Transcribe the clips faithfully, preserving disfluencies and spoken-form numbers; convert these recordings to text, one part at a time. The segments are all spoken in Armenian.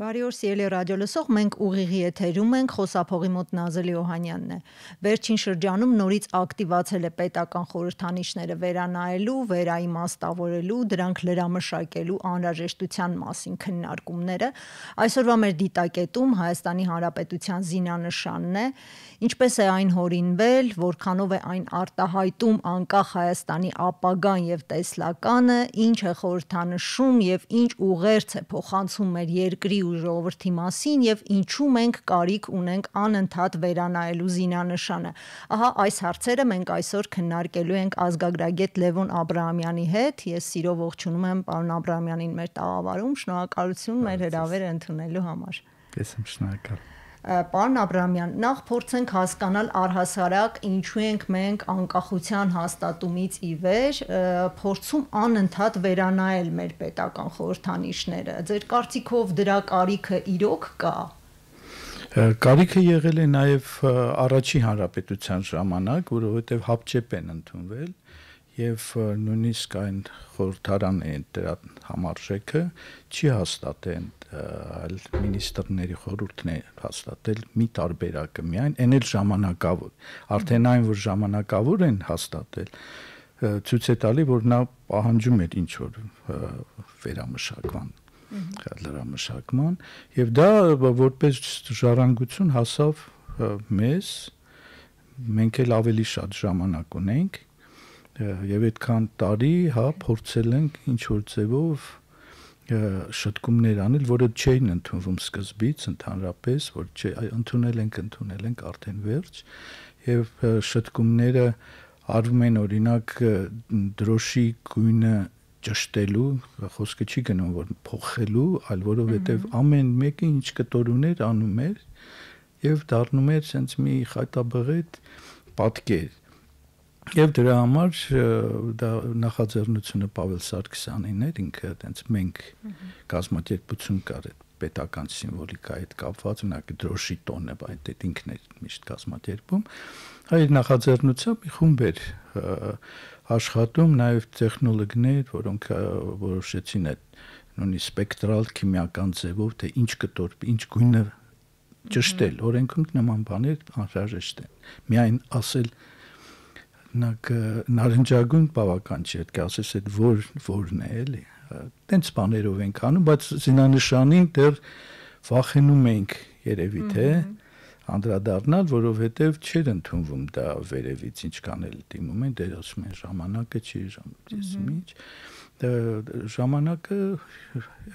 Բարի օր, սիրելի ռադիոլսող, մենք ուղիղի եթերում ենք, խոսափողի մոտ Նազելի Օհանյանն է։ Վերջին շրջանում նորից ակտիվացել է պետական խորհրդանիշները վերանայելու, վերաիմաստավորելու, դրանք լրամշակելու անհրաժեշտության մասին քննարկումները։ Այսօրվա մեր դիտակետում Հայաստանի Հանրապետության զինանշանն է, ինչպես է այն հորինվել, որքանով է այն արտահայտում անկախ Հայաստանի ապագան եւ տեսլականը, ինչ է խորհրդանշում եւ ինչ ուղերձ է փոխանցում մեր երկրի ու ժողովրդի մասին եւ ինչու մենք կարիք ունենք անընդհատ վերանայելու զինանշանը։ Ահա այս հարցերը մենք այսօր քննարկելու ենք ազգագրագետ Լևոն Աբրահամյանի հետ։ Ես սիրով ողջունում եմ պարոն Աբրահամյանին մեր տաղավարում։ Շնորհակալություն մեր հրավերը ընդունելու համար։ Ես եմ շնորհակալ։ Պարոն Աբրահամյան, նախ փորձենք հասկանալ առհասարակ ինչու ենք մենք անկախության հաստատումից ի վեր փորձում անընդհատ վերանայել մեր պետական խորհրդանիշները։ Ձեր կարծիքով դրա կարիքը իրոք կա։ Կարիքը եղել է նաև առաջի հանրապետության ժամանակ, որովհետև հապճեպ են ընդունվել եւ նույնիսկ այն խորհրդարանը դրա համարժեքը չի հաստատել, այլ մինիստրների խորհուրդն է հաստատել մի տարբերակը միայն, այն էլ ժամանակավոր, արդեն այն որ ժամանակավոր են հաստատել, ցույց է տալի, որ նա պահանջում էր ինչ որ վերամշակման, լրամշակման, եւ դա որպես ժառանգություն հասավ մեզ, մենք էլ ավելի շատ ժամանակ ունենք եւ այդքան տարի, հա, փորձել ենք ինչ որ ձևով շտկումներ անել, որը չէին ընդունվում սկզբից ընդհանրապես, որ չէ, ընդունել ենք, ընդունել ենք արդեն վերջ եւ շտկումները արվում են օրինակ դրոշի գույնը ճշտելու, խոսքը չի գնում որ փոխելու, այլ որովհետեւ ամեն մեկը ինչ կտորուներ անում էր եւ դառնում էր sense մի խայտաբղետ պատկեր։ Եվ դրա համար դա նախաձեռնությունը Պավել Սարգսյանին էր, ինքը այտենց մենք կազմակերպություն կար այդ պետական սիմվոլիկայի հետ կապված, օրինակ դրոշի տոնը, այդ այդ ինքն էր միշտ կազմակերպում, այդ նախաձեռնությամբ մի խումբ էր աշխատում, նաև տեխնոլոգներ, որոնք որոշեցին այդ նույնիսկ սպեկտրալ քիմիական ձևով, թե ինչ կտոր, ինչ գույնը ճշտել, օրենքում նման բաներ անհրաժեշտ են։ Միայն ասել նակ նարնջագույն բավական չի, պետք է ասես այդ որ որն է, էլի։ Տենց բաներով ենք անում, բայց զինանշանին դեռ վախենում ենք երևի թե անդրադառնալ, որովհետև չէր ընդունվում դա վերևից ինչ կանել դիմում են, դեր ասում են ժամանակը չի, ժամանակը ժամանակը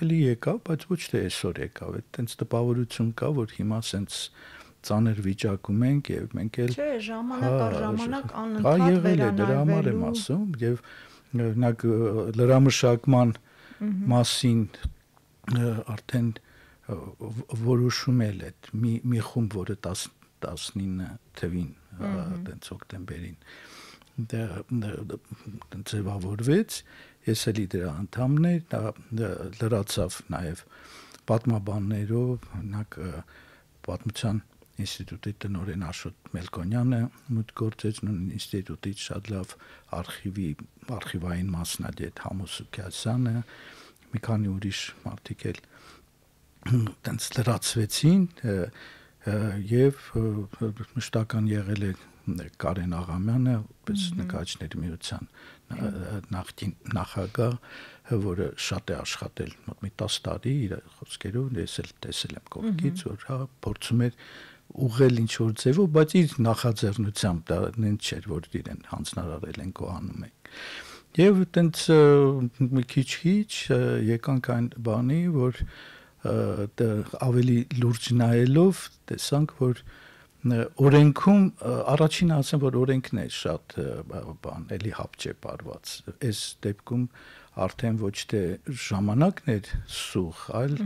էլի եկավ, բայց ոչ թե այսօր եկավ, այդ տենց տպավորություն կա, որ հիմա սենց ծանր վիճակում ենք եւ մենք էլ չէ ժամանակ առ ժամանակ անընդհատ վերանայվելու դրա համար եմ ասում եւ օրինակ լրամշակման մասին արդեն որոշում էլ այդ մի մի խումբ որը տասնինը թվին այդպես օկտեմբերին դա ձևավորվեց ես էլի դրա անդամն էր դա լրացավ նաեւ պատմաբաններով օրինակ պատմության ինստիտուտի տնօրեն Աշոտ Մելքոնյանը մուտք գործեց նույն ինստիտուտից շատ լավ արխիվի արխիվային մասնագետ Համոս Սուքիասյանը մի քանի ուրիշ մարդիկ էլ տենց լրացվեցին եւ մշտական եղել է Կարեն Աղամյանը պես նկարիչների միության նախկին նախագահ որը շատ է աշխատել մոտ մի տասը տարի իր խոսքերով ես էլ տեսել եմ կողքից որ հա փորձում էր ուղղել ինչ որ ձևով, բայց իր նախաձեռնությամբ դա նենց չէր, որ իրեն հանձնարարել են կողանում են։ Եվ այտենց մի քիչ-քիչ եկանք այն բանի, որ ավելի լուրջ նայելով տեսանք, որ օրենքում առաջին ասեմ, որ օրենքն է շատ բան, էլի հապճեպ արված։ Այս դեպքում արդեն ոչ թե ժամանակն էր սուղ, այլ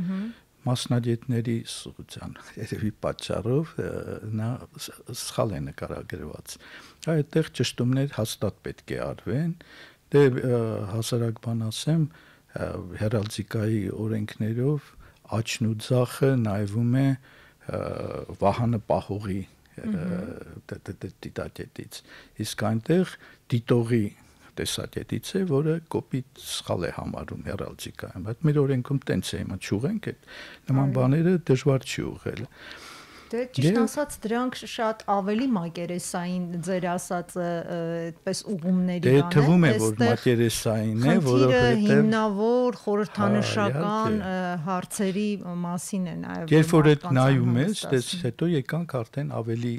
մասնագետների սուղության երևի պատճառով նա սխալ է նկարագրված։ Այդտեղ ճշտումներ հաստատ պետք է արվեն։ Դե հասարակ բան ասեմ, հերալդիկայի օրենքներով աչն ու ձախը նայվում է Վահանը Պահողի դիտակետից։ Իսկ այնտեղ դիտողի տեսակետից է, որը կոպիտ սխալ է համարում հեռալցիկայում, բայց մեր օրենքում տենց է, հիմա չուղենք այդ նման բաները դժվար չի ուղղել։ Դե ճիշտ ասած դրանք շատ ավելի մակերեսային ձեր ասածը այդպես ուղումների բան է։ Դե թվում է որ մակերեսային է, որովհետև հիմնավոր խորհրդանշական հարցերի մասին է նաև։ Երբ որ այդ նայում ես, դες հետո եկանք արդեն ավելի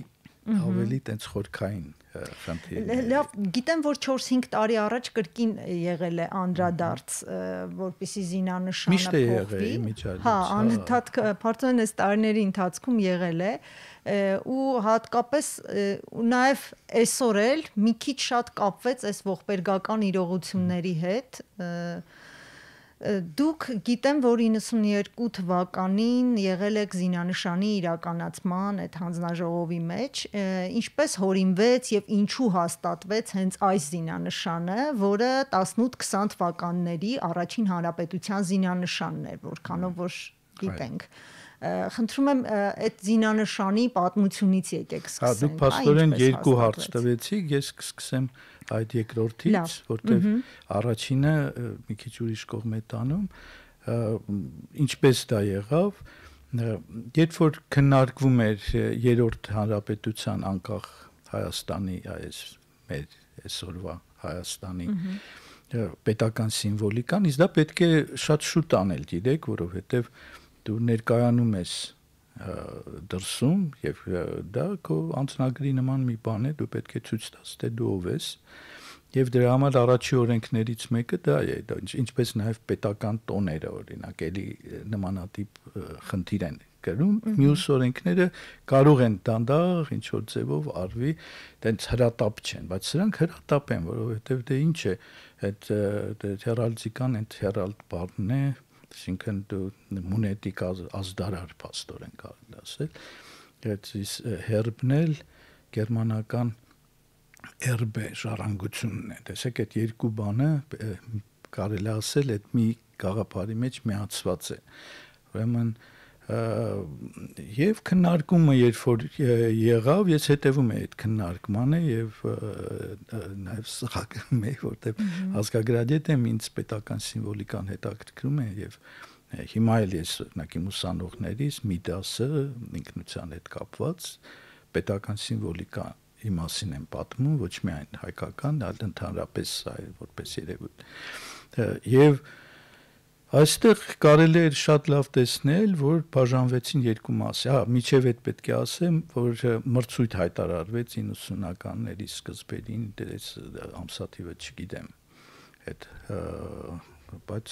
ավելի տենց խորքային խնդիրներ։ Լավ, գիտեմ որ չորս-հինգ տարի առաջ կրկին եղել է անդրադարձ, որպեսզի զինանշանը փոխվի։ Հա, անընդհատ փորձեն այս տարիների ընթացքում եղել է ու հատկապես նաև այսօր էլ մի քիչ շատ կապվեց այս ողբերգական իրողությունների հետ։ Դուք գիտեմ, որ իննսուններկու թվականին եղել եք զինանշանի իրականացման այդ հանձնաժողովի մեջ, ինչպես հորինվեց եւ ինչու հաստատվեց հենց այս զինանշանը, որը տասնութ-քսան թվականների առաջին հանրապետության զինանշանն էր, որքանով որ գիտենք։ Խնդրում եմ այդ զինանշանի պատմությունից եկեք սկսենք։ Հա, դուք փաստորեն երկու հարց տվեցիք, ես կսկսեմ այդ երկրորդից, որտեղ առաջինը մի քիչ ուրիշ կողմ է տանում, ինչպես դա եղավ, երբ որ քննարկվում էր երրորդ հանրապետության անկախ Հայաստանի, այս մեր այսօրվա Հայաստանի պետական սիմվոլիկան, իսկ դա պետք է շատ շուտ անել, գիտեք, որովհետև դու ներկայանում ես դրսում եւ դա քո անձնագրի նման մի բան է, դու պետք է ցույց տաս, թե դու ով ես եւ դրա համար առաջի օրենքներից մեկը դա է, դա ինչպես նաեւ պետական տոները օրինակ էլի նմանատիպ խնդիր են կրում, մյուս օրենքները կարող են դանդաղ ինչ որ ձևով արվի, տենց հրատապ չեն, բայց սրանք հրատապ են, որովհետեւ դե ինչ է, այդ հերալդիկան, այդ հերալդ բառն է, այսինքն դու մունետիկ ազդարար փաստորեն կարելի ասել, այդ հերբն էլ գերմանական erbe ժառանգությունն է, տեսեք այդ երկու բանը կարելի ասել այդ մի գաղափարի մեջ միացված է, ուրեմն եւ քննարկումը երբ որ եղավ, ես հետևում եի այդ քննարկմանը եւ նաեւ սխակում եի, որտեղ ազգագրադիետ եմ, ինձ պետական սիմվոլիկան հետաքրքրում է եւ հիմա էլ ես օրինակ իմ ուսանողներից մի դասը ինքնության հետ կապված պետական սիմվոլիկա մասին եմ պատմում, ոչ միայն հայկական, այլ ընդհանրապես որպես երևույթ եւ այստեղ կարելի է շատ լավ տեսնել, որ բաժանվեցին երկու մասի։ Հա, միջև այդ պետք է ասեմ, որ մրցույթ հայտարարվեց իննսունականների սկզբերին, դες ամսաթիվը չգիտեմ։ Այդ բայց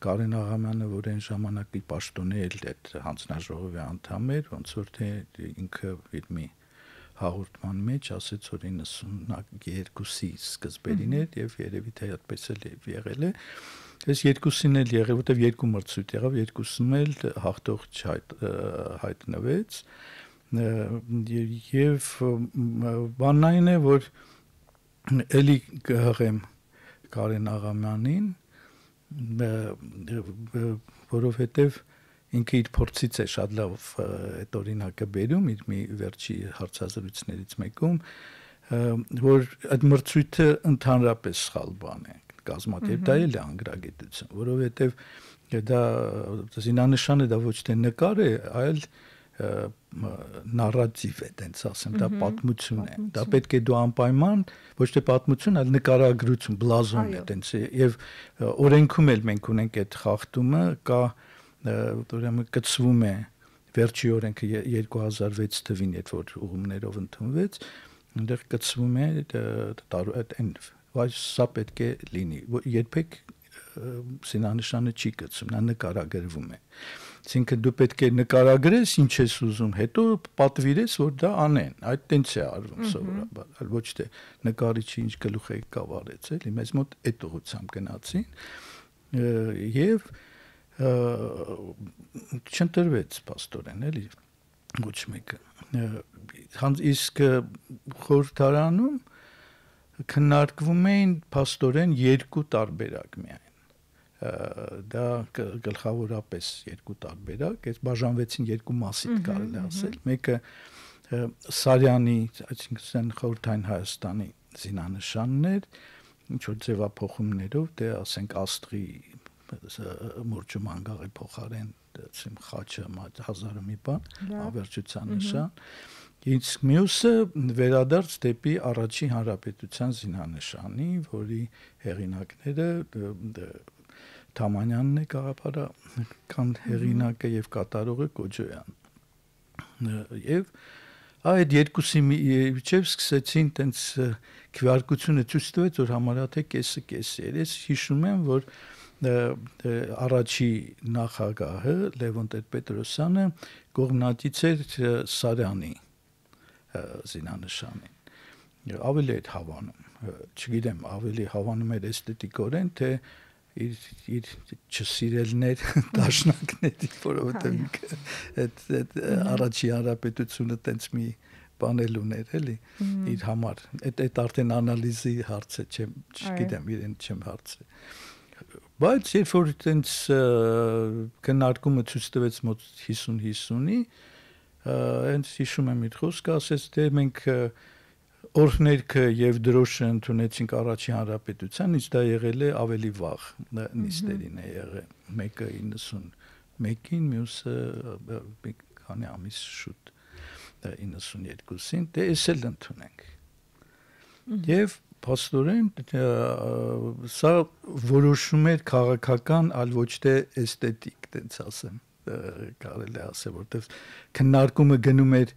Կարեն Աղամյանը, որ այն ժամանակի պաշտոնի էլ այդ հանձնաժողովի անդամ էր, ոնց որ թե ինքը իր մի հաղորդման մեջ ասեց, որ իննսուններկուսի սկզբերին էր եւ երևի թե այդպես էլ եղել է։ Այս երկուսին էլ եղավ, որտեվ երկու մրցույթ եղավ, երկուսում էլ հաղթող հայտնվեց եւ բանն այն է, որ էլի կհղեմ Կարեն Աղամյանին, որովհետեւ ինքը իր փորձից է շատ լավ այդ օրինակը բերում իր մի վերջի հարցազրույցներից մեկում, որ այդ մրցույթը ընդհանրապես սխալ բան է, կազմակերպ, դա էլ է անգրագիտություն, որովհետև դա զինանշանը դա ոչ թե նկար է, այլ նարատիվ է, տենց ասեմ, դա պատմություն է, դա պետք է դու անպայման, ոչ թե պատմություն, այլ նկարագրություն, բլազոն է, տենց է, եւ օրենքում էլ մենք ունենք այդ խախտումը, կա ուրեմն կցվում է վերջի օրենքը երկու հազար վեց թվին, երբ որ ուղումներով ընդունվեց, այնտեղ կցվում է այն, բայց սա պետք է լինի, երբեք զինանշանը չի կցվում, նա նկարագրվում է, այսինքն դու պետք է նկարագրես ինչ ես ուզում, հետո պատվիրես, որ դա անեն, այդ տենց է արվում սովորաբար, այլ ոչ թե նկարիչը ինչ գլուխ է կավարեց, էլի մեզ մոտ այդ ուղղությամբ գնացին եւ չընտրվեց պաստորեն, էլի ոչ մեկը։ Իսկ խորհրդարանում քննարկվում էին պաստորեն երկու տարբերակ միայն։ Դա գլխավորապես երկու տարբերակ, այս բաժանվեցին երկու մասի կարելի ասել։ Մեկը Սարյանի, այսինքն խորհրդային Հայաստանի զինանշանն էր, ինչ որ ձևափոխումներով, դե ասենք աստղի մուրճում անգաղի փոխարեն դրեցին խաչը հազարը մի բան, ավերջության նշան։ Իսկ մյուսը վերադարձ դեպի առաջին հանրապետության զինանշանի, որի հեղինակները Թամանյանն է, գաղափարական հեղինակը եւ կատարողը Կոջոյան։ Եվ այդ երկուսի միջև սկսեցին տենց քվեարկությունը ցույց տվեց, որ համարյա թե կեսը կեսի էր։ Ես հիշում եմ, որ առաջի նախագահը Լևոն Տեր-Պետրոսյանը կողմնակից էր Սարյանի զինանշանին։ Ավելի էր հավանում, չգիտեմ, ավելի հավանում էր էսթետիկորեն, թե իր իր չսիրելներ դաշնակների, որովհետև այդ այդ առաջի հանրապետությունը տենց մի բանել ուներ, էլի, իր համար։ Այդ այդ արդեն անալիզի հարց է, չեմ, չգիտեմ, իրեն չեմ հարցրել։ Բայց երբ որ տենց քննարկումը ցույց տվեց մոտ հիսուն հիսունի, հենց հիշում եմ իր խոսքը, ասեց, թե մենք օրհներքը եւ դրոշը ընդունեցինք առաջի հանրապետության, իսկ դա եղել է ավելի վաղ նիստերին է եղել, մեկը իննսունմեկին, մյուսը մի քանի ամիս շուտ իննսունյոթին, դե էս էլ ընդունենք։ Եվ փաստորեն սա որոշում էր քաղաքական, այլ ոչ թե էսթետիկ, տենց ասեմ, կարելի է ասել, որտեղ քննարկումը գնում էր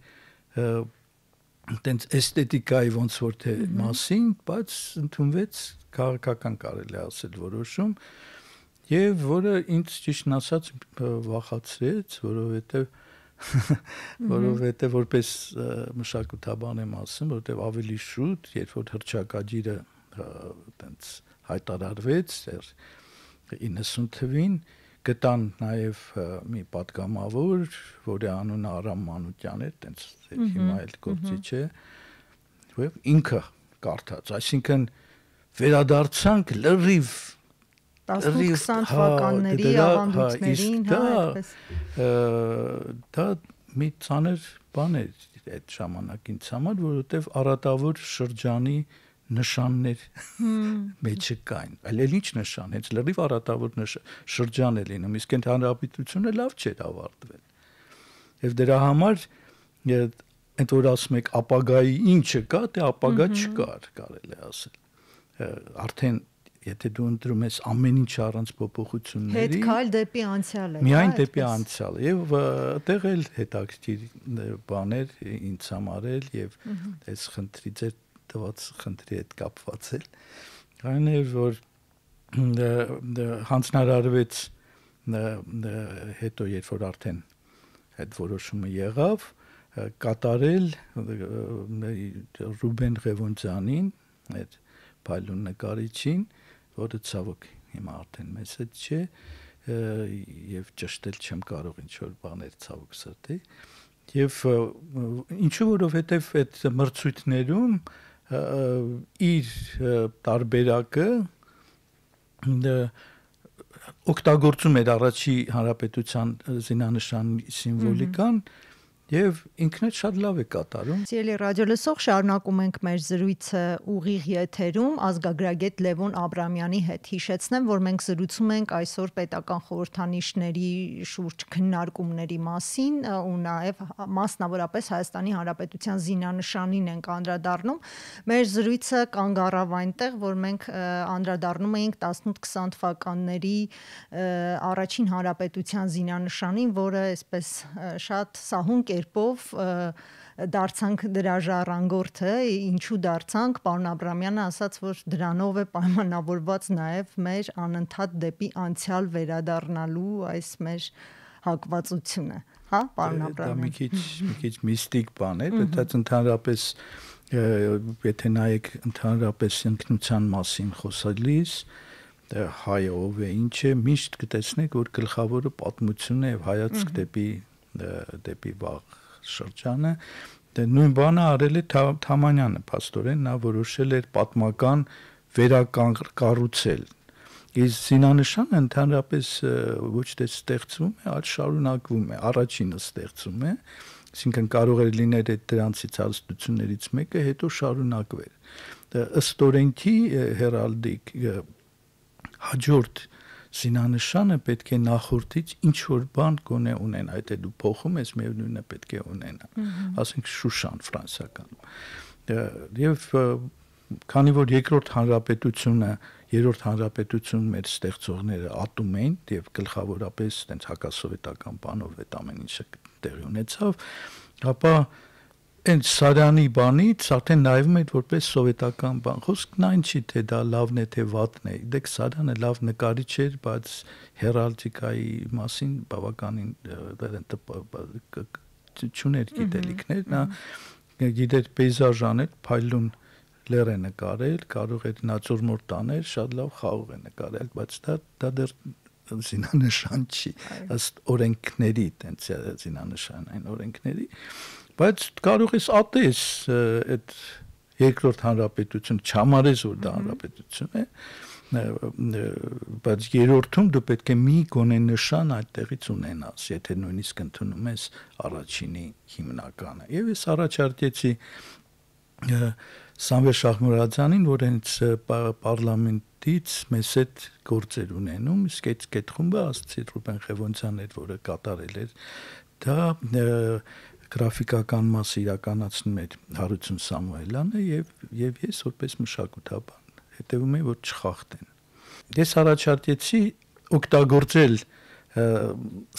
տենց էսթետիկայի ոնց որ թե մասին, բայց ընդունվեց քաղաքական, կարելի է ասել, որոշում, եւ որը ինձ ճիշտն ասած վախացրեց, որովհետեւ որովհետեւ որպես մշակութաբան եմ ասում, որովհետեւ ավելի շուտ, երբ որ հռչակագիրը տենց հայտարարվեց իննսուն թվին, գտան նաև մի պատգամավոր, որի անունը Արամ Մանուկյան էր, տենց հիմա էլ գործիչ է, եւ ինքը կարդաց, այսինքն վերադարձանք լրիվ տասնութ-քսան թվականների ավանդույթներին, հա, այդպես։ Դա մի ծանր բան էր այդ ժամանակին համար, որովհետև արատավոր շրջանի նշաններ մեջը կային։ Այլ էլ ինչ նշան, հենց լրիվ արատավոր շրջան է լինում, իսկ այդ հանրապետությունը լավ չէր ավարտվել։ Եվ դրա համար այդ որ ասում եք ապագայի ինչը կա, դե ապագա չկար, կարելի ասել։ Արդեն եթե դու ընտրում ես ամեն ինչ առանց փոփոխությունների, հետ քայլ դեպի անցյալ է։ Միայն դեպի անցյալ է, եւ այդտեղ էլ հետաքրքիր բաներ ինձ համար էլ եւ այս խնդրի ձեր տված խնդրի հետ կապված էլ այն էր, որ հանձնարարվեց հետո երբ որ արդեն այդ որոշումը եղավ, կատարել Ռուբեն Ղևոնդյանին, այդ Փայլուն նկարիչին, որը ցավոք հիմա արդեն մեծ չէ եւ ճշտել չեմ կարող ինչ որ բաներ ցավոք սրտի եւ ինչու որովհետեւ այդ մրցույթներում իր տարբերակը օգտագործում էր առաջի հանրապետության զինանշանի սիմվոլիկան Եվ ինքն էլ շատ լավ է կատարում։ Սիրելի ռադիոլսող, շարունակում ենք մեր զրույցը ուղիղ եթերում ազգագրագետ Լևոն Աբրամյանի հետ։ Հիշեցնեմ, որ մենք զրուցում ենք այսօր պետական խորհրդանիշների շուրջ քննարկումների մասին ու նաև մասնավորապես Հայաստանի Հանրապետության զինանշանին ենք անդրադառնում։ Մեր զրույցը կանգ առավ այնտեղ, որ մենք անդրադառնում էինք տասնութ-քսան թվականների առաջին հանրապետության զինանշանին, որը այսպես շատ սահուն կերպով դարձանք դրա ժառանգորդը, ինչու դարձանք, պարոն Աբրամյանը ասաց, որ դրանով է պայմանավորված նաև մեր անընդհատ դեպի անցյալ վերադառնալու այս մեր հակվածությունը, հա, պարոն Աբրամյան։ Դա մի քիչ, մի քիչ միստիկ բան է, բայց ընդհանրապես եթե նայեք ընդհանրապես ինքնության մասին խոսալիս, հայը ով է, ինչ է, միշտ կտեսնեք, որ գլխավորը պատմությունն է եւ հայացք դեպի դեպի վաղ շրջանը, դե նույն բանը արել է Թամանյանը, փաստորեն նա որոշել էր պատմական վերակառուցել։ Իսկ զինանշանը ընդհանրապես ոչ թե ստեղծվում է, այլ շարունակվում է, առաջինը ստեղծում է, Այսինքն կարող էր լինել այդ դրանցից հարստություններից մեկը հետո շարունակվեր։ Ըստ օրենքի հերալդիկ հաջորդ զինանշանը պետք է նախորդից ինչ որ բան գոնե ունենա, այդ է դու փոխում ես, միևնույնն է պետք է ունենա։ Ասենք Շուշան ֆրանսիականում։ Եվ քանի որ երկրորդ հանրապետությունը, երրորդ հանրապետությունն մեր ստեղծողները ատում էին եւ գլխավորապես այդպես հակասովետական բանով այդ ամեն ինչը տեղի ունեցավ, ապա այն Սարյանի բանից արդեն նայվում էր որպես սովետական բան։ Խոսքն այն չի թե դա լավն է թե վատն է։ Դեք Սարյանը լավ նկարիչ էր, բայց հերալդիկայի մասին բավականին չուներ գիտելիքներ, նա գիտեր պեյզաժ անել, փայլուն լեր է նկարել, կարող էր նացորմորտ անել, շատ լավ խաղող է նկարել, բայց դա դա դեռ զինանշան չի, ըստ օրենքների, տենց զինանշանային օրենքների, բայց կարող ես ատես այդ երկրորդ հանրապետություն, չհամարես որ դա հանրապետություն է, բայց երրորդում դու պետք է մի գոնե նշան այդտեղից ունենաս, եթե նույնիսկ ընդունում ես առաջինի հիմնականը։ Եվ ես առաջարկեցի Սամվել Շահմուրադյանին, որ հենց պարլամենտից մեզ հետ գործեր ունենում, իսկ այդ կետխումբը ասացի Ռուբեն Խևոնցյանն էր, որը կատարել էր, դա գրաֆիկական մասը իրականացնում էր Հարություն Սամուելյանը եւ եւ ես որպես մշակութաբան հետեւում եմ որ չխախտեն։ Ես առաջարկեցի օգտագործել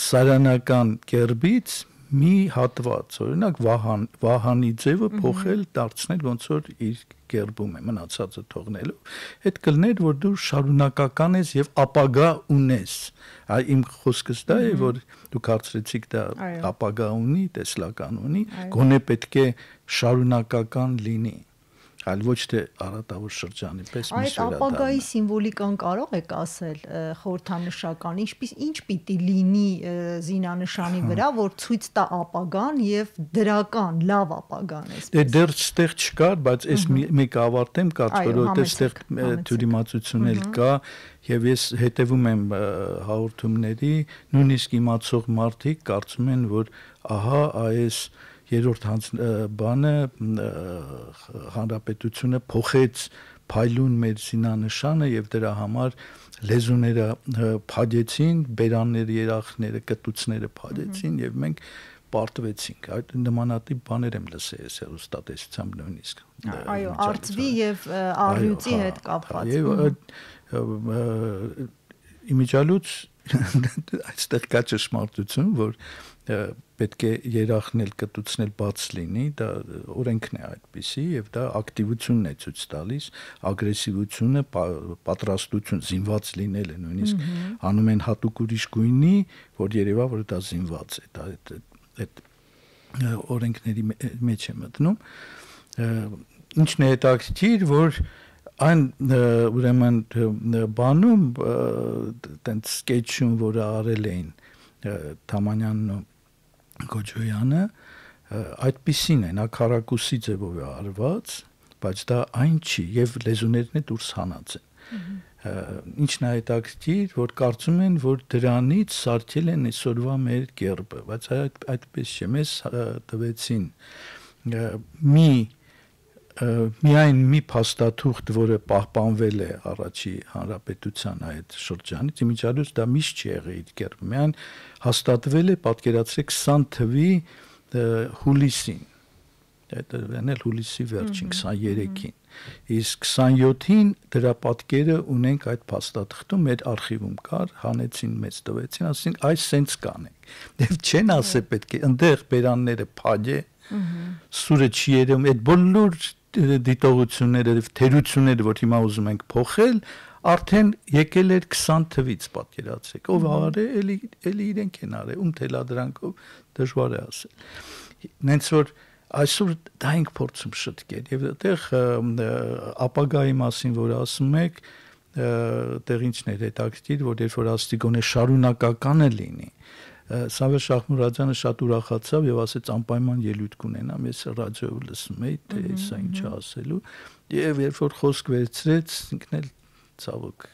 սարանական կերպից մի հատված, օրինակ Վահան Վահանի ձևը փոխել, դարձնել ոնց որ իր կերպում է, մնացածը թողնելով։ Այդ կլներ որ դու շարունակական ես եւ ապագա ունես։ Այ իմ խոսքս դա է, որ դու կարծրեցիք դա ապագա ունի, տեսլական ունի, գոնե պետք է շարունակական լինի, այլ ոչ թե առատավոր շրջանի պես մի շրջան։ Այդ ապագայի սիմվոլիկան կարող եք ասել խորհրդանշական, ինչպես ինչ պիտի լինի զինանշանի վրա, որ ցույց տա ապագան եւ դրական լավ ապագան է։ Դե դեռ ստեղ չկար, բայց այս մեկ ավարտեմ, կարծում եմ, որովհետեւ ստեղ թյուրիմացություն էլ կա եւ ես հետեւում եմ հաղորդումների, նույնիսկ իմացող մարդիկ կարծում են, որ ահա այս երրորդ բանը հանրապետությունը փոխեց փայլուն մեր զինանշանը եւ դրա համար լեզուները փակեցին, բերանները, երախները, կտուցները փակեցին եւ մենք պարտվեցինք։ Այդ նմանատիպ բաներ եմ լսել ես հեռուստատեսությամբ նույնիսկ։ Այո, արծվի եւ առյուծի հետ կապված։ Եվ իմիջալուց այստեղ կա ճշմարտություն, որ պետք է երախնել, կտուցնել բաց լինի, դա օրենքն է այդպիսի եւ դա ակտիվությունն է ցույց տալիս, ագրեսիվությունը, պատրաստություն, զինված լինելը նույնիսկ անում են հատուկ ուրիշ գույնի, որ երևա որ դա զինված է, դա այդ օրենքների մեջ է մտնում։ Ինչն է հետաքրքիր, որ այն ուրեմն բանում տենց սկեչում, որը արել էին Թամանյանն ու Գոջոյանը, այդպիսին է, նա քառակուսի ձևով է արված, բայց դա այն չի եւ լեզուներն է դուրս հանած են։ Ինչն է հետաքրքիր, որ կարծում են, որ դրանից սարքել են այսօրվա մեր կերպը, բայց այդ այդպես չէ, մեզ տվեցին մի միայն մի փաստաթուղթ, որը պահպանվել է առաջի հանրապետության այդ շրջանից, իմիջիալուց դա միշտ չի եղել իր կերպը, միայն հաստատվել է, պատկերացրեք քսան թվականի հուլիսին, դա վերնել հուլիսի վերջին քսաներեքին, իսկ քսանյոթին դրա պատկերը ունենք այդ փաստաթղթում, մեր արխիվում կար, հանեցին մեզ տվեցին, ասին այս սենց կանենք, եւ չեն ասել պետք է ընդեղ բերանները փագե, սուրը չի երևում, այդ բոլոր դիտողությունները, թերությունները, որ հիմա ուզում ենք փոխել, արդեն եկել էր քսան թվից, պատկերացրեք, ով արել, էլի էլի իրենք են արել, ում թելադրանքով դժվար է ասել։ Նենց որ այսօր դա ենք փորձում շտկել եւ այդտեղ ապագայի մասին որ ասում եք, այդտեղ ինչն է հետաքրքիր, որ երբ որ ասի գոնե շարունակականը լինի, Սամվել Շահմուրադյանը շատ ուրախացավ եւ ասեց անպայման ելույթ կունենամ, ես ռադիոյով լսում էի, թե սա ինչ է ասելու, եւ երբ որ խոսք վերցրեց, ինքն էլ ցավոք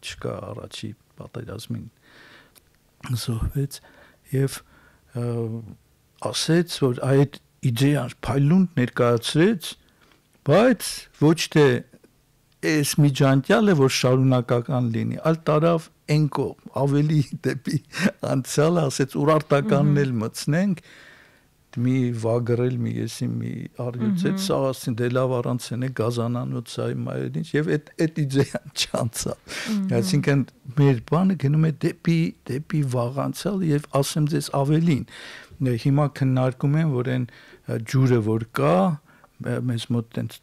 չկա առաջի պատերազմին զոհվեց եւ ասեց, որ այդ իդեան փայլուն ներկայացրեց, բայց ոչ թե այս միջանցյալը, որ շարունակական լինի, այլ տարավ այն կողմ, ավելի դեպի անցյալը, ասեց ուրարտականն էլ մտցնենք, մի վագրել մի եսի մի արյուծեց, սա ասին դե լավ առանց են գազանանոցայի մայրինչ եւ այդ այդ իդեան չանցավ։ Այսինքն մեր բանը գնում է դեպի դեպի վաղանցյալ եւ ասեմ ձեզ ավելին, հիմա քննարկում են, որ այն ջուրը որ կա, մեզ մոտ այնց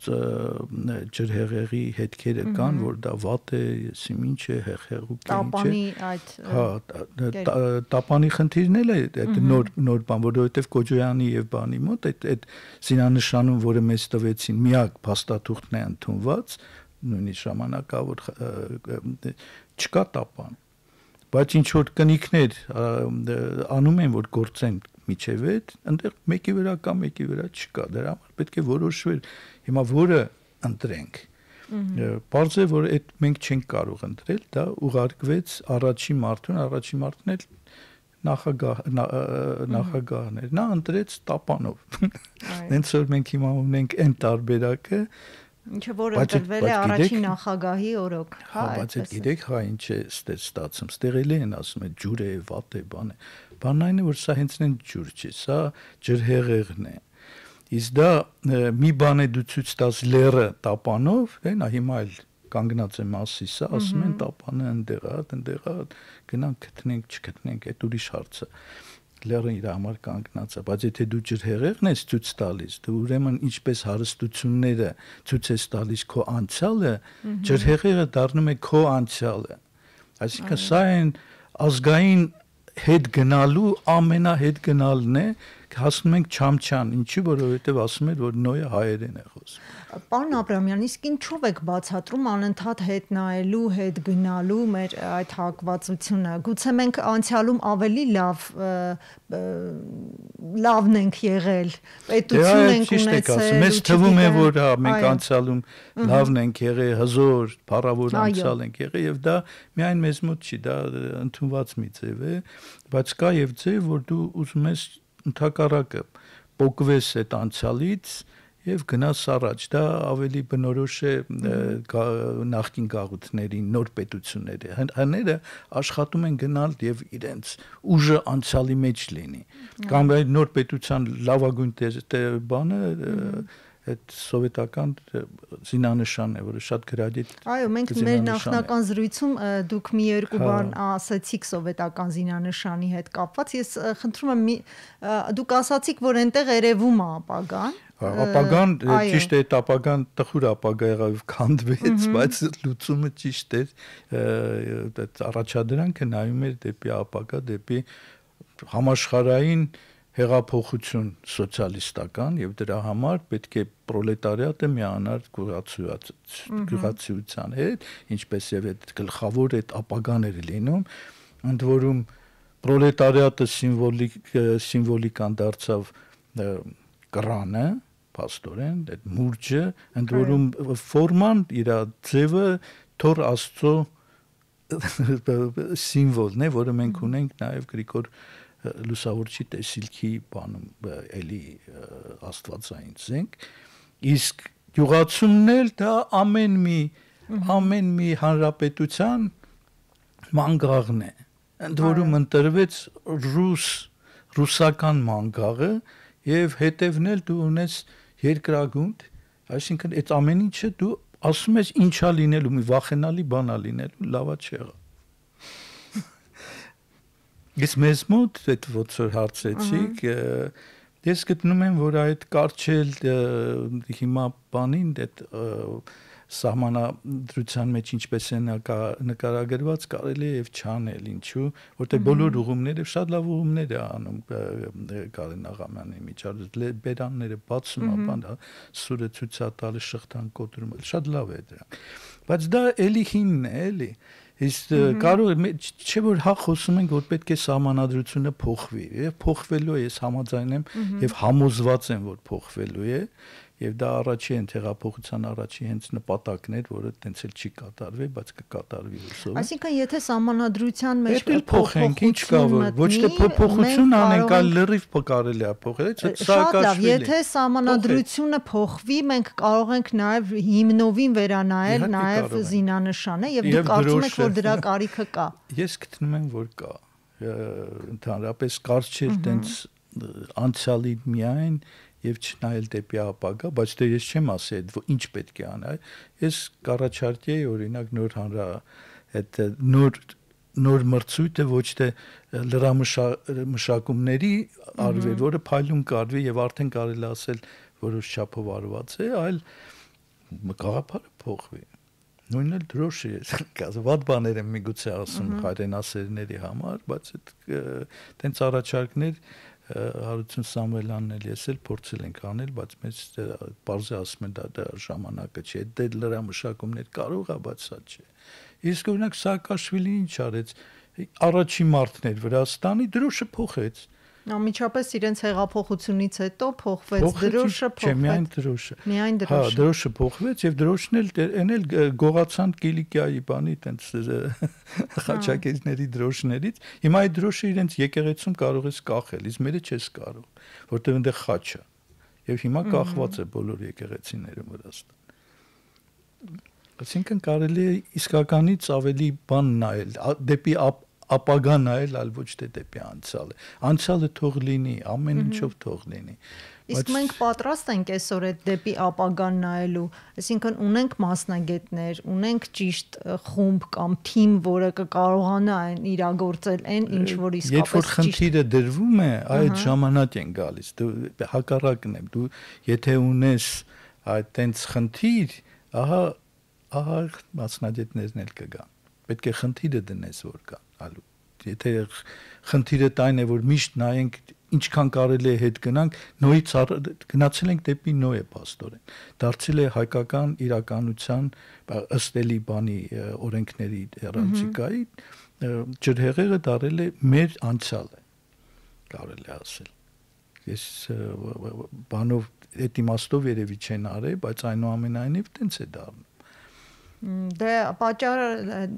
ջրհեղեղի հետքերը կան, որ դա վատ է, եսի ինչ է, հեղեղուկ է, ինչ է։ Տապանի այդ հա, տապանի խնդիրն էլ է այդ նոր նոր բան, որովհետև Կոջոյանի եւ բանի մոտ այդ այդ զինանշանում, որը մեզ տվեցին, միակ փաստաթուղթն է ընդունված, նույնիսկ ժամանակավոր չկա տապան։ Բայց ինչ որ կնիքներ անում են, որ գործեն միջև այդ, այնտեղ մեկի վրա կա, մեկի վրա չկա, դրա համար պետք է որոշվել, հիմա որը ընտրենք։ Պարզ է, որ այդ մենք չենք կարող ընտրել, դա ուղարկվեց առաջի մարդուն, առաջի մարդն էլ նախագահ նախագահն էր, նա ընտրեց տապանով։ Հենց որ մենք հիմա ունենք այն տարբերակը, ինչը որ ընտրվել է առաջին նախագահի օրոք, հա, բայց այդ գիտեք, հա, ինչ է ստացվում, ստեղել են ասում են ջուր է, վատ է, բան է։ Բանն այն է, որ սա հենց նեն ջուր չի, սա ջրհեղեղն է։ Իսկ դա մի բան է դու ցույց տաս լերը տապանով, դե նա հիմա էլ կանգնած է Մասիսը, ասում են տապանը ընդեղ է, ընդեղ է, գնանք գտնենք, չգտնենք, այդ ուրիշ հարց է։ Լերը իր համար կանգնած է, բայց եթե դու ջրհեղեղն ես ցույց տալիս, դու ուրեմն ինչպես հարստությունները ցույց ես տալիս քո անցյալը, ջրհեղեղը դառնում է քո անցյալը։ Այսինքն սա այն ազգային հետ գնալու ամենահետ գնալն է, հասնում ենք Չամչան, ինչի, որովհետև ասում էր, որ Նոյը հայերեն է խոսում։ Պարոն Աբրամյան, իսկ ինչով եք բացատրում անընդհատ հետ նայելու, հետ գնալու մեր այդ հակվածությունը։ Գուցե մենք անցյալում ավելի լավ լավն ենք եղել, պետություն ենք ունեցել։ Մեզ թվում է, որ մենք անցյալում լավն ենք եղել, հզոր, փառավոր անցյալ ենք եղել, եւ դա միայն մեզ մոտ չի, դա ընդունված մի ձև է, բայց կա եւ ձև, որ դու ուզում ես ընդհակառակը փոկվես այդ անցյալից եւ գնաս առաջ, դա ավելի բնորոշ է նախկին գաղութների նոր պետությունների, հները աշխատում են գնալ եւ իրենց ուժը անցյալի մեջ լինի, կամ այդ նոր պետության լավագույն բանը այդ սովետական զինանշանն է, որը շատ գրադիտ։ Այո, մենք մեր նախնական զրույցում դուք մի երկու բան ասացիք սովետական զինանշանի հետ կապված, ես խնդրում եմ դուք ասացիք, որ այնտեղ երևում է ապագան։ Ապագան ճիշտ է, այդ ապագան տխուր ապագա եղավ, քանդվեց, բայց լուծումը ճիշտ էր, այդ առաջադրանքը նայում էր դեպի ապագա, դեպի համաշխարհային հեղափոխություն սոցիալիստական եւ դրա համար պետք է պրոլետարիատը միանար գյուղացիության հետ, ինչպես եւ այդ գլխավոր այդ ապագաները լինում, ընդ որում պրոլետարիատը սիմվոլիկ սիմվոլիկան դարձավ կռանը, փաստորեն, այդ մուրճը, ընդ որում ֆորման իր ձևը Թոր Աստծո սիմվոլն է, որը մենք ունենք նաեւ Գրիգոր լուսավորչի տեսիլքի բանում էլի աստվածային զենք, իսկ գյուղացումն էլ դա ամեն մի ամեն մի հանրապետության մանգաղն է, ընդ որում ընտրվեց ռուս ռուսական մանգաղը եւ հետևն էլ դու ունես երկրագունդ, այսինքն այդ ամեն ինչը դու ասում ես ինչա լինելու, մի վախենալի բան ա լինելու, լավա չեղա։ Ես մեզ մոտ այդ ոնց որ հարցեցիք, ես գտնում եմ, որ այդ կարճել հիմա բանին այդ սահմանադրության մեջ ինչպես է նկարագրված, կարելի է եւ չանել, ինչու, որտեղ բոլոր ուղումները շատ լավ ուղումներ է անում Կարեն Աղամյանի միջազգ բերանները բացում, բան, սուրը ցույց տալը, շղթան կոտրում, շատ լավ է դրանք։ Բայց դա էլի հինն է, էլի։ Իսկ կարող է չէ որ հա խոսում ենք որ պետք է սահմանադրությունը փոխվի եւ փոխվելու է ես համաձայն եմ եւ համոզված եմ որ փոխվելու է եւ դա առաջի են հեղափոխության առաջի հենց նպատակն էր, որը տենց էլ չի կատարվի, բայց կկատարվի հուսով։ Այսինքն եթե սահմանադրության մեջ փոխենք, ինչ կա որ ոչ թե փոփոխություն անենք, այլ լրիվ կարելի է փոխել, Սաակաշվիլի։ Եթե սահմանադրությունը փոխվի, մենք կարող ենք նաեւ հիմնովին վերանայել նաեւ զինանշանը եւ դուք կարծում եք, որ դրա կարիքը կա։ Ես գտնում եմ, որ կա։ Ընդհանրապես կարճ չէ տենց անցյալի միայն եւ չնայել դեպի ապագա, բայց դե ես չեմ ասի այդ ինչ պետք է անել։ Ես կառաջարկեի օրինակ նոր հանրա այդ նոր նոր մրցույթը ոչ թե լրամշակումների արվի, որը փայլուն կարվի եւ արդեն կարելի ասել որոշ չափով արված է, այլ գաղափարը փոխվի։ Նույնն էլ դրոշ է, կազը վատ բաներ եմ միգուցե ասում հայրենասերների համար, բայց այդ տենց առաջարկներ Հարություն Սամվելյանն էլ ես էլ փորձել ենք անել, բայց մեզ բարձր ասում են դա ժամանակը չէ, դե լրամշակումներ կարող է, բայց սա չէ։ Իսկ օրինակ Սաակաշվիլին ինչ արեց, առաջին մարտն էր Վրաստանի, դրոշը փոխեց։ Անմիջապես իրենց հեղափոխությունից հետո փոխվեց դրոշը, փոխվեց։ Չէ, միայն դրոշը։ Միայն Հա, դրոշը։ դրոշը փոխվեց եւ դրոշն էլ այն էլ գողացան Կիլիկիայի բանի տենց խաչակերների դրոշներից։ Հիմա այդ դրոշը իրենց եկեղեցում կարող ես կախել, իսկ մերը չես կարող, որտեղ այնտեղ խաչ է։ Եվ հիմա կախված է բոլոր եկեղեցիները Վրաստան։ Այսինքն կարելի է իսկականից ավելի բան նայել, դեպի ապագա նայել, այլ ոչ թե դեպի անցյալը։ Անցյալը թող լինի, ամեն ինչով թող լինի։ Իսկ մենք պատրաստ ենք այսօր այդ դեպի ապագան նայելու, այսինքն ունենք մասնագետներ, ունենք ճիշտ խումբ կամ թիմ, որը կկարողանա այն իրագործել այն, ինչ որ իսկապես ճիշտ։ Երբ որ խնդիրը դրվում է, այդ ժամանակ են գալիս։ Դու հակառակն է, դու եթե ունես այդ տենց խնդիր, ահա ահա մասնագետներն էլ կգան։ Պետք է խնդիրը դնես որ կա ալու եթե խնդիրը այն է որ միշտ նայենք ինչքան կարելի է հետ գնանք նոյից գնացել ենք դեպի նոյը պաստորեն դարձել է հայկական իրականության ըստ էլի բանի օրենքների հեռանկարի ջրհեղեղը դարել է մեր անցյալը կարելի է ասել ես բանով այդ իմաստով երևի չեն արել բայց այնուամենայնիվ տենց է դառնում Դե պատճառ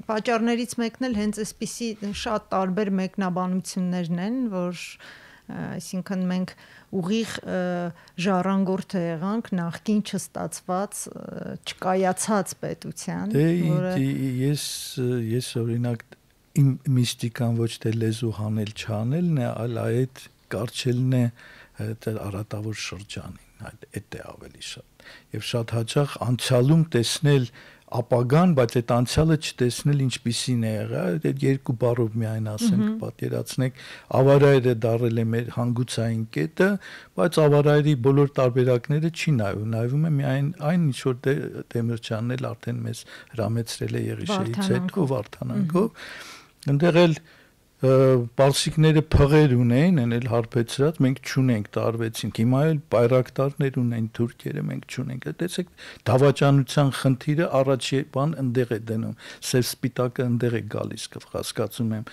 պատճառներից մեկն էլ հենց այսպիսի շատ տարբեր մեկնաբանություններն են, որ այսինքն մենք ուղիղ ժառանգորդ եղանք նախքին չստացված չկայացած պետության, որը ես ես օրինակ իմ միստիկան ոչ թե լեզու հանել չանելն է, այլ այդ կարճելն է արատավոր շրջանին, այդ է ավելի շատ։ Եվ շատ հաճախ անցյալում տեսնել ապագան, բայց այդ անցյալը չտեսնել ինչպիսին է եղել, այդ երկու բառով միայն ասենք, պատկերացնեք, ավարայրը դարել է մեր հանգուցային կետը, բայց ավարայրի բոլոր տարբերակները չի նայում, նայվում է միայն այն, ինչ որ Դեմիրճյանն էլ արդեն մեզ հրամեցրել է Եղիշեից հետո Վարդանանքով, այնտեղ էլ պարսիկները փղեր ունեն, են էլ հարբեցրած, մենք չունենք, տարվեցինք, հիմա էլ բայրակտարներ ունեն թուրքերը, մենք չունենք, տեսեք, դավաճանության խնդիրը առաջի բան ընդեղ է դնում, սև սպիտակը ընդեղ է գալիս, հասկացում եմ,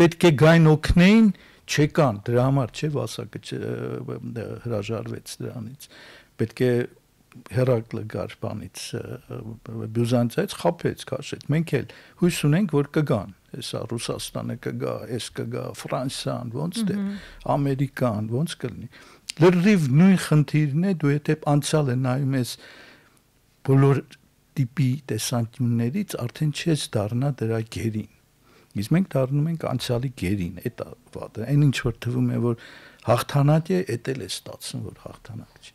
պետք է գային օգնեին, չեկան, դրա համար չէ Վասակը հրաժարվեց դրանից, պետք է Հերակլը գար բանից Բյուզանդիայից խափեց, քաշեց, մենք էլ հույս ունենք, որ կգան Հեսա Ռուսաստանը կգա, էս կգա, Ֆրանսիան, ոնց դե, Ամերիկան, ոնց կլինի։ Լրիվ նույն խնդիրն է, դու եթե անցյալը նայում ես բոլոր տիպի տեսանկյուններից, արդեն չես դառնա դրա գերին։ Իսկ մենք դառնում ենք անցյալի գերին, այդ է վատը։ Այն ինչ որ թվում է, որ հաղթանակ է, էդ էլ է ստացվում, որ հաղթանակ չի։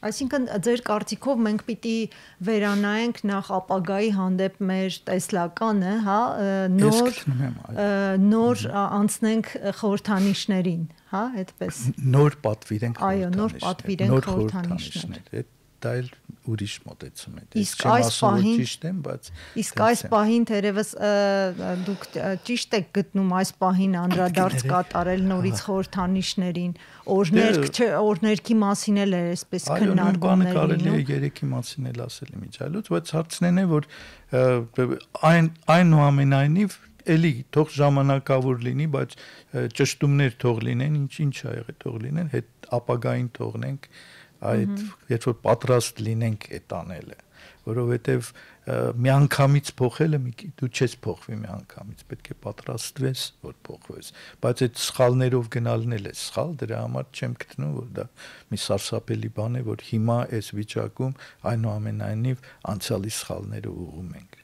Այսինքն ձեր կարծիքով մենք պիտի վերանայենք նախ ապագայի հանդեպ մեր տեսլականը, հա, նոր նոր անցնենք խորհրդանիշներին, հա, այդպես։ Նոր պատվիրենք խորհրդանիշներ։ Այո, նոր պատվիրենք խորհրդանիշներ։ Դա էլ ուրիշ մոտեցում է։ Իսկ այս պահին ճիշտ եմ, բայց իսկ այս պահին թերևս դուք ճիշտ եք գտնում այս պահին անդրադարձ կատարել նորից խորհրդանիշներին, օրներք օրներքի մասին էլ է այսպես քննարկումներ լինում։ Այո, կարելի է երեքի մասին էլ ասել իմիջալուց, բայց հարցն է, որ այն այնուամենայնիվ էլի թող ժամանակավոր լինի, բայց ճշտումներ թող լինեն, ինչ ինչ ա եղել թող լինեն, հետ ապագային թողնենք այդ երբ որ պատրաստ լինենք այդ անելը, որովհետև միանգամից փոխելը դու չես փոխվի միանգամից, պետք է պատրաստվես, որ փոխվես, բայց այդ սխալներով գնալն էլ է սխալ, դրա համար չեմ գտնում, որ դա մի սարսափելի բան է, որ հիմա այս վիճակում այնուամենայնիվ անցյալի սխալները ուղղում ենք,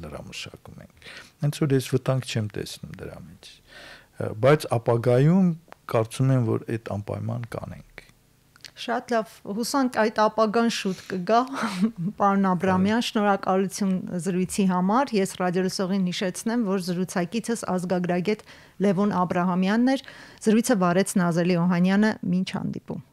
լրամշակում ենք, հենց որ ես վտանգ չեմ տեսնում դրա մեջ, բայց ապագայում կարծում եմ, որ այդ անպայման կանենք։ Շատ լավ, հուսանք այդ ապագան շուտ կգա, պարոն Աբրամյան, շնորհակալություն զրույցի համար, ես ռադիոլսողին հիշեցնեմ, որ զրուցակիցս ազգագրագետ Լևոն Աբրահամյանն էր, զրույցը վարեց Նազելի Օհանյանը, մինչ հանդիպում։